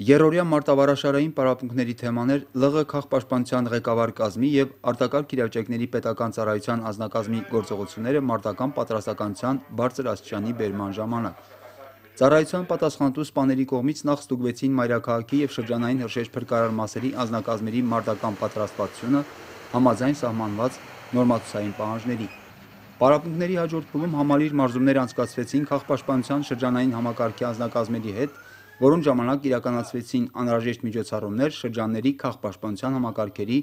Երրորդյա մարտավարաշարային պարապմունքների թեմաներ ԼՂ քաղաքապաշտպանության ղեկավար կազմի եւ արտակարգ իրավիճակների պետական ծառայության անձնակազմի գործողությունները մարտական պատրաստականության բարձր աստիճանի բերման ժամանակ։ Ծառայության պատասխանատու սպաների կողմից նախ ստուգվեցին մայրաքաղաքի եւ շրջանային հրշեջ փրկարար մասերի անձնակազմերի մարտական պատրաստվածությունը համաձայն սահմանված նորմատուսային պահանջների։ Պարապմունքների հաջորդ փուլում համալիր մարզումներ անցկացվեցին քաղաքապաշտպանության շրջանային համակարգի անձնակազմերի հետ, որոնց ժամանակ իրականացվեցին անհրաժեշտ միջոցառումներ շրջանների քաղաքապաշտպանության համակարգերի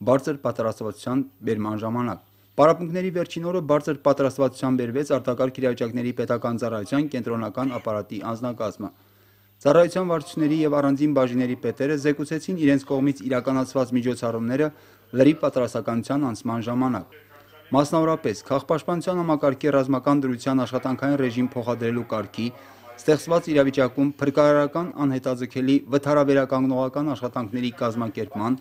բարձր պատրաստվածության բերման ժամանակ։ Պարապմունքների վերջին օրը բարձր պատրաստվածության բերվեց արտակարգ իրավիճակների պետական ծառայության կենտրոնական ապարատի անձնակազմը։ Ծառայության վարչությունների եւ առանձին բաժինների պետերը զեկուցեցին իրենց կողմից իրականացված միջոցառումները լրիվ պատրաստականության անցման ժամանակ։ Մասնավորապես, քաղաքապաշտպանության համակարգի ռազմական դրության աշխատանքային ռեժիմ փոխադրելու կարգի, ստեղծված իրավիճակում փրկարարական անհետաձգելի վթարավերականգնողական աշխատանքների կազմակերպման,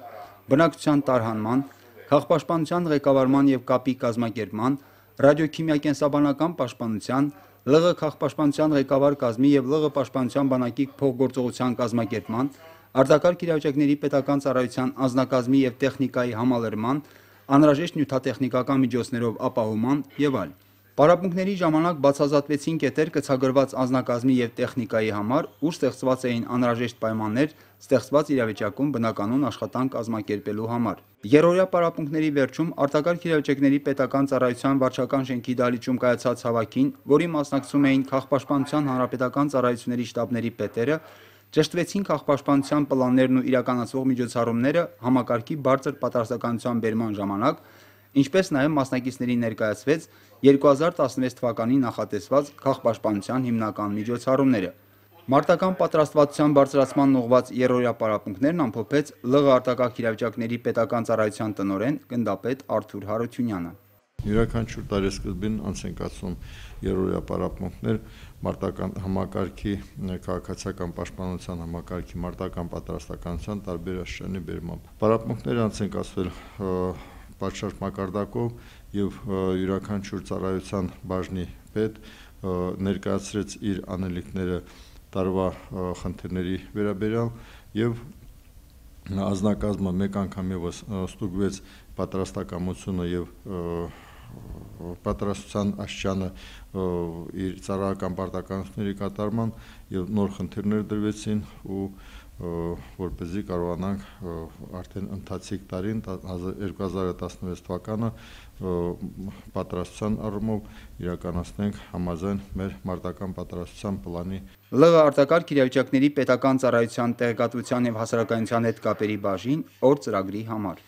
բնակչության տարհանման, քաղաքապաշտպանության ղեկավարման եւ կապի կազմակերպման, ռադիոքիմիակենսաբանական պաշտպանության, ԼՂ քաղաքապաշտպանության ղեկավար կազմի եւ ԼՂ պաշտպանության բանակի փոխգործողության կազմակերպման, արտակարգ իրավիճակների պետական ծառայության անձնակազմի եւ տեխնիկայի համալրման, անհրաժեշտ նյութատեխնիկական միջոցներով ապահովման եւ այլն։ Պարապմունքների ժամանակ բացահայտվեցին կետեր կցագրված անձնակազմի եւ տեխնիկայի համար, ուր ստեղծված էին անհրաժեշտ պայմաններ ստեղծված իրավիճակում բնականոն աշխատանք կազմակերպելու համար։ Երրորդյա պարապմունքների վերջում արտակարգ իրավիճակների պետական ծառայության վարչական շենքի դահլիճում կայացած հավաքին, որի մասնակցում էին քաղաքապաշտպանության հանրապետական ծառայությունների շտաբների պետերը, ճշտվեցին քաղաքապաշտպանության պլաններն ու իրականացվող միջոցառումները համակարգի բարձր պատրաստականության բերման ժամանակ, ինչպես նաև մասնակիցներին ներկայացվեց 2016 թվականին նախատեսված քաղաքապաշտպանության հիմնական միջոցառումները։ Մարտական պատրաստվածության բարձրացման ուղղված երրորդյա պարապմունքներն ամփոփեց ԼՂ արտակարգ իրավիճակների պետական ծառայության տնօրեն գնդապետ Արթուր Հարությունյանը։ Յուրաքանչյուր տարեսկզբին անց են կացվում երրորդյա պարապմունքներ մարտական համակարգի քաղաքացիական պաշտպանության համակարգի մարտական պատրաստականության տարբեր աստիճանի բերմամբ։ Պարապմունքները անց են կացվել պատշաճ մակարդակով եւ յուրաքանչյուր ծառայության բաժնի պետ ներկայացրեց իր անելիքները տարվա խնդիրների վերաբերյալ եւ անձնակազմը մեկ անգամ եւս ստուգվեց պատրաստակամությունը եւ պատրաստության աստիճանը իր ծառայական պարտականությունների կատարման եւ նոր խնդիրներ դրվեցին ու որպեսզի կարողանանք արդեն ընթացիկ տարին 2016 թվականը պատրաստության առումով իրականացնենք համաձայն մեր մարտական պատրաստության պլանի։ ԼՂ արտակարգ իրավիճակների պետական ծառայության տեղեկատվության եւ հասարակայնության հետ կապերի բաժին օր ծրագրի համար։